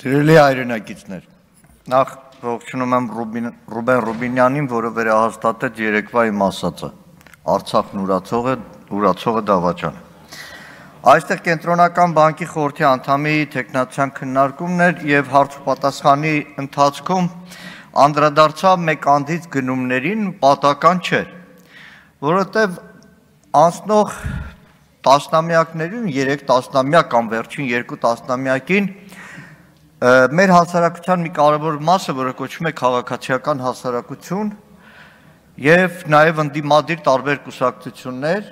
Սիրելի հայրենակիցներ, նախ ողջունում եմ Ռուբեն Ռուբինյանին, որը վերահաստատեց երեկվա իմ ասածը, Արցախն ուրացողը դավաճան։ Այստեղ Կենտրոնական բանկի խորհրդի անդամի տեխնացիան քննարկումն էր եւ հարց ու պատասխանի ընթացքում անդրադարձավ մեկ անդից գնումներին պատական չէր, որովհետեւ անցնող տասնամյակներին, 3 տասնամյակ կամ վերջին 2 տասնամյակին մեր հասարակության մի կարևոր մասը, որը կոչվում է քաղաքացիական հասարակություն եւ նաեւ ընդդիմադիր տարբեր կուսակցություններ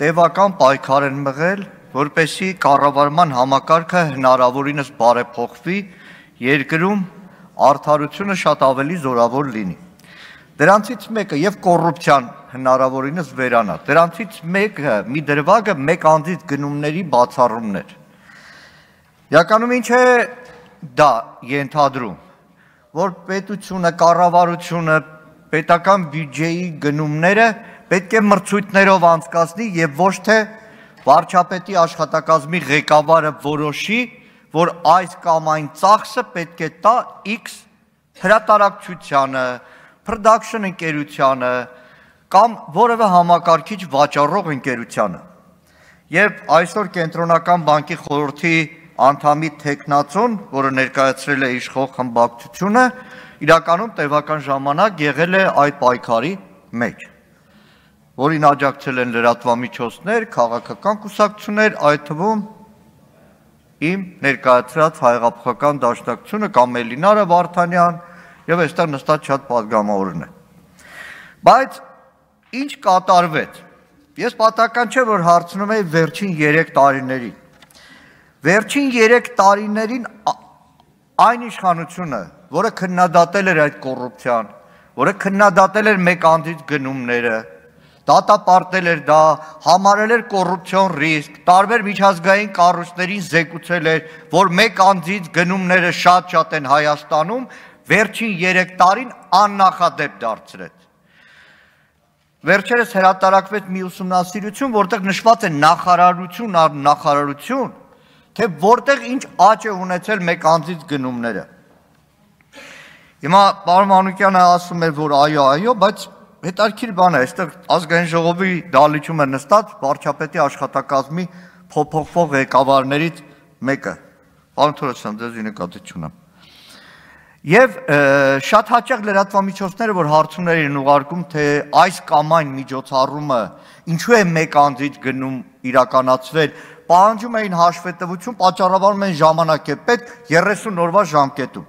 տևական պայքար են մղել, որպեսզի կառավարման համակարգը հնարավորինս բարեփոխվի, երկրում արդարությունը շատ ավելի զորավոր լինի։ Դրանցից մեկը եւ կոռուպցիան հնարավորինս վերանա։ Դրանցից մեկը մի դրվագը մեկ անձից գնումների բացառումն էր։ Իրականում ինչ է դա ենթադրում, որ պետությունը, կառավարությունը, պետական բյուջեի գնումները պետք է մրցույթներով անցկացնի եւ ոչ թե վարչապետի աշխատակազմի ղեկավարը որոշի, որ այս կամ այն ծախսը պետք է տա X հրատարակչությանը, production ընկերությանը կամ որևէ համակարգիչ վաճառող ընկերությանը։ Եվ այսօր Կենտրոնական բանկի խորհրդի անդամի տեխնացուն, որը ներկայացրել է իշխող խմբակցությունը, իրականում տևական ժամանակ եղել է այդ պայքարի մեջ, որին աջակցել են լրատվամիջոցներ, քաղաքական կուսակցություններ, այդ թվում իմ ներկայացրած Հայեղափոխական դաշնակցությունը կամ Էլինարը Վարդանյան եւ այստեղ նստած շատ падգամավորներ։ Բայց ինչ կատարվեց։ Ես պատահական չէ, որ հարցնում եմ վերջին 3 տարիներին։ Վերջին 3 տարիներին այն իշխանությունը, որը քննադատել էր այդ կոռուպցիան, որը քննադատել էր մեկ անձից գնումները, դատապարտել էր դա, համարել էր կոռուպցիոն ռիսկ, տարբեր միջազգային կառույցներին զեկուցել էր, որ մեկ անձից գնումները շատ են Հայաստանում, վերջին 3 տարին աննախադեպ դարձրեց։ Վերջերս հրատարակվեց մի ուսումնասիրություն, որտեղ նշված է նախարարություն առ նախարարություն, թե որտեղ ինչ աճ է ունեցել մեկ անձից գնումները։ Հիմա պարոն Մանուկյանը ասում է, որ այո, բայց հետաքրքիր բան է, այստեղ ազգային ժողովի դահլիճում է նստած վարչապետի աշխատակազմի փոփոխվող ղեկավարներից մեկը։ Պարոն Թորոսյան, ձեզ նկատի չունեմ։ Եվ շատ հաճախ լրատվամիջոցները, որ հարցումներ են ուղարկում, թե այս կամ այն միջոցառումը ինչու է մեկ անձից գնում իրականացվել, պահանջում էին հաշվետվություն, պատճառաբանում են ժամանակ է պետք 30 օրվա ժամկետում։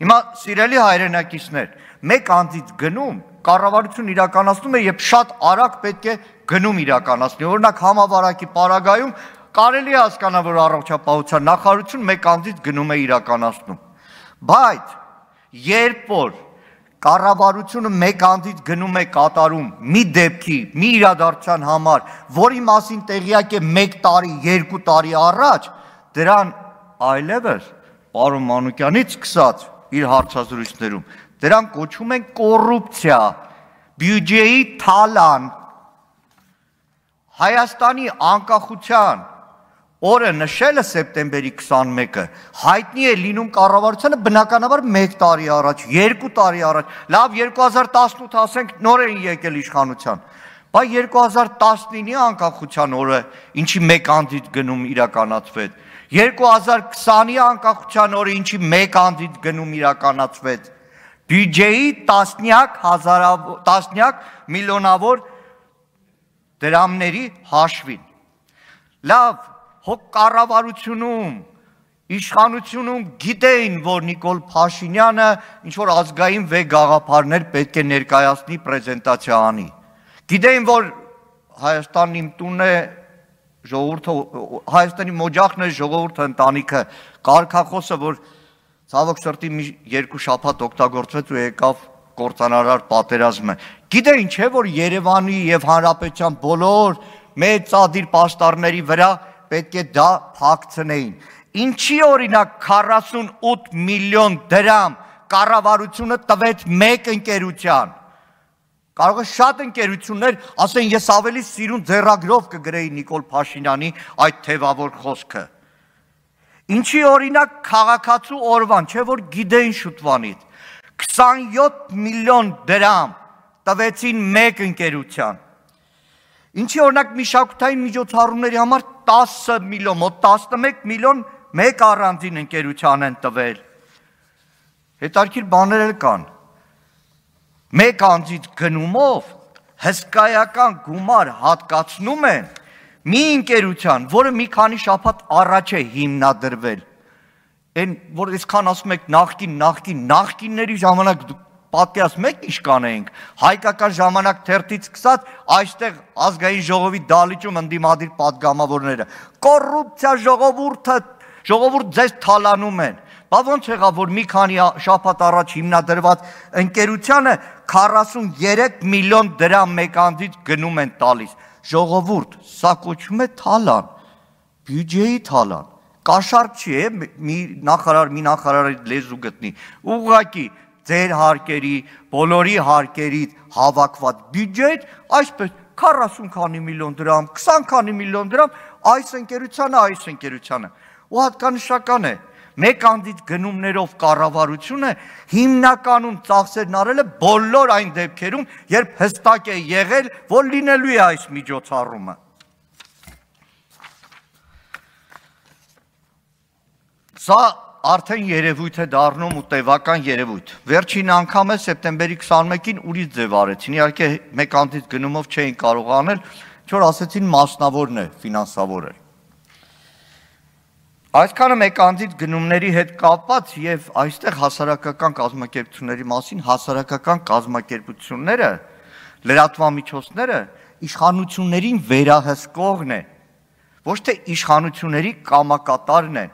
Հիմա սիրելի հայրենակիցներ, մեկ անձից գնում կառավարություն իրականացնում է, երբ շատ արագ պետք է գնում իրականացնի։ Օրինակ համավարակի պարագայում կարելի է հասկանալ, որ առողջապահության նախարարություն մեկ անձից գնում է իրականացնում։ Բայց երբ որ կառավարությունը մեկ անձից գնում է կատարում մի դեպքի, մի իրադարձության համար, որի մասին տեղյակ է 1 տարի, 2 տարի առաջ, դրան այլևս պարոն Մանուկյանից սկսած իր հարցազրույցներում, դրան կոչում են կոռուպցիա, բյուջեի թալան, Հայաստանի անկախության օրը նշելը սեպտեմբերի 21-ը հայտնի է լինում կառավարությանը բնականաբար 1 տարի առաջ, 2 տարի առաջ, լավ 2018 ասենք նոր էին եկել իշխանության, բայց 2019-ի անկախության օրը ինչի մեկ անձից գնում իրականացվեց, 2020-ի անկախության օրը ինչի մեկ անձից գնում իրականացվեց, բյուջեի տասնյակ միլիոնավոր դրամների հաշվին, լավ հոգ կառավարությունում, իշխանությունում գիտեին, որ Նիկոլ Փաշինյանը ինչ-որ ազգային վեհ գաղափարներ պետք է ներկայացնի, պրեզենտացիա անի։ Գիտեին, որ Հայաստանն իմ տունն է, Հայաստանի մոջախն է, ժողովուրդը ընտանիքը, կարգախոսը, որ ցավոք սրտի մի 2 շաբաթ օգտագործվեց ու եկավ կործանարար պատերազմը։ Գիտեին, չէ, որ Երևանի եւ Հանրապետության բոլոր մեծ ծադիր պաստառների վրա պետք է դա փակցնեին։ Ինչի օրինակ 48 միլիոն դրամ կառավարությունը տվեց մեկ ընկերության։ Կարող է շատ ընկերություններ ասեն, ես ավելի սիրուն ձեռագրով կգրեի Նիկոլ Փաշինյանի այդ թևավոր խոսքը։ Ինչի օրինակ քաղաքացու օրվան, չէ որ գիտեին շուտվանից 27 միլիոն դրամ տվեցին մեկ ընկերության։ Ինչի օրինակ մշակութային միջոցառումների համար 10 միլիոն, մոտ 11 միլիոն մեկ առանձին ընկերության են տվել։ Հետարքիր բաներ էլ կան։ Մեկ անձից գնումով հսկայական գումար հատկացնում են մի ընկերության, որը մի քանի շաբաթ առաջ է հիմնադրվել։ Այն որ այսքան ասում եք նախկինների ժամանակ պատկերացնում եք ինչ կանեինք, հայկական ժամանակ թերթից սկսած այստեղ ազգային ժողովի դալիճում ընդդիմադիր падգամավորները, կոռուպցիա ժողովուրդ ձեզ թալանում են։ Բա ոնց եղավ, որ մի քանի շաբաթ առաջ հիմնադրված ընկերությանը 43 միլիոն դրամ մեկ անձից գնում են տալիս։ Ժողովուրդ, սա կոչվում է թալան, բյուջեի թալան, կաշառք չի, մի նախարարի լեզու գտնի, ուղղակի ձեր հարկերի, բոլորի հարկերից հավաքված բյուջեից, այսպես 40 քանի միլիոն դրամ, 20 քանի միլիոն դրամ, այս ընկերությանը, ու հատկանշական է, մեկ անձից գնումներով կառավարությունը հիմնականում ծախսերն արել է բոլոր այն դեպքերում, երբ հստակ է եղել, որ լինելու է այս միջոցառումը։ Սա արդեն երևույթ է դառնում ու տևական երևույթ։ Վերջին անգամ է սեպտեմբերի 21-ին ուրիշ ձև արեցին, իհարկե մեկ անձից գնումով չէին կարող անել, որ ասեցին մասնավորն է ֆինանսավորել։ Այսքանը մեկ անձից գնումների հետ կապված եւ այստեղ հասարակական կազմակերպությունների մասին հասարակական կազմակերպությունները, լրատվամիջոցները իշխանություններին վերահսկողն են, ոչ թե իշխանությունների կամակատարն են։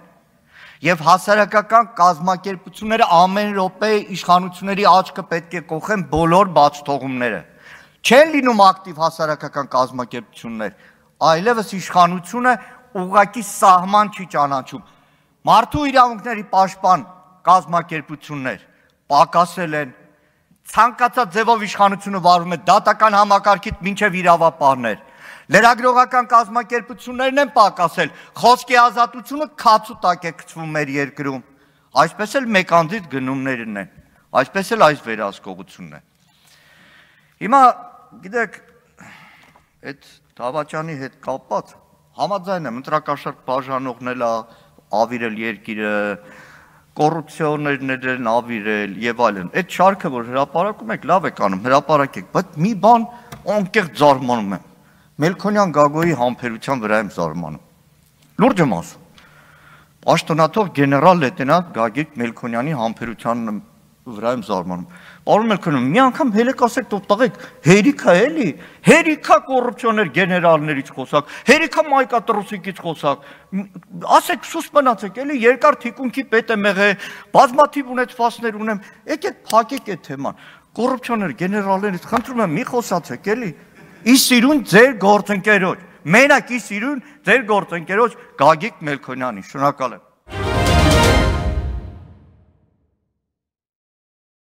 Եվ հասարակական կազմակերպությունները ամեն րոպե իշխանությունների աչքը պետք է կողեն բոլոր բացթողումները։ Չեն լինում ակտիվ հասարակական կազմակերպություններ, այլևս իշխանությունը ուղղակի սահման չի ճանաչում։ Մարդու իրավունքների պաշտպան կազմակերպություններ պակասել են, ցանկացած ձևով իշխանությունը վարում է դատական համակարգից մինչև իրավապահներ։ Լրագրողական կազմակերպություններն են պակասել, խոսքի ազատությունը քացու տակ է գցվում մեր երկրում։ Այսպես էլ մեկ անձից գնումներն են, այսպես էլ այս վերահսկողությունն է։ Հիմա գիտեք, այդ Դավաճանի հետ կապված համաձայն եմ, ընտրակաշառք բաժանողն էլ ավիրել երկիրը, կոռուպցիոներն են ավիրել եւ այլն։ Այդ շարքը, որ հրապարակում եք, լավ եք անում, հրապարակեք, բայց մի բան անկեղծ զարմանում եմ։ Մելքոնյան Գագոյի համբերության վրա եմ զարմանում։ Լուրջ եմ ասում։ Պաշտոնաթող գեներալ լեյտենանտ Գագիկ Մելքոնյանի համբերության վրա եմ զարմանում։ Պարոն Մելքոնյան, մի անգամ հելեք ասեք տղեկ, հերիքա էլի, հերիքա կոռուպցիոներ գեներալներից խոսակ, հերիքա մայկատրուսիկից խոսակ, ասեք սուս մնացեք, էլի երկար թիկունքի պետ եմ եղել, բազմաթիվ ունեցվածքներ ունեմ, եկեք փակեք այդ թեման։ Կոռուպցիոներ գեներալներից խնդրում եմ մի խոսացեք, էլի։ Ի սիրուն ձեր գործընկերոջ, մենակ ի սիրուն ձեր գործընկերոջ Գագիկ Մելքոնյանի, շնորհակալ եմ։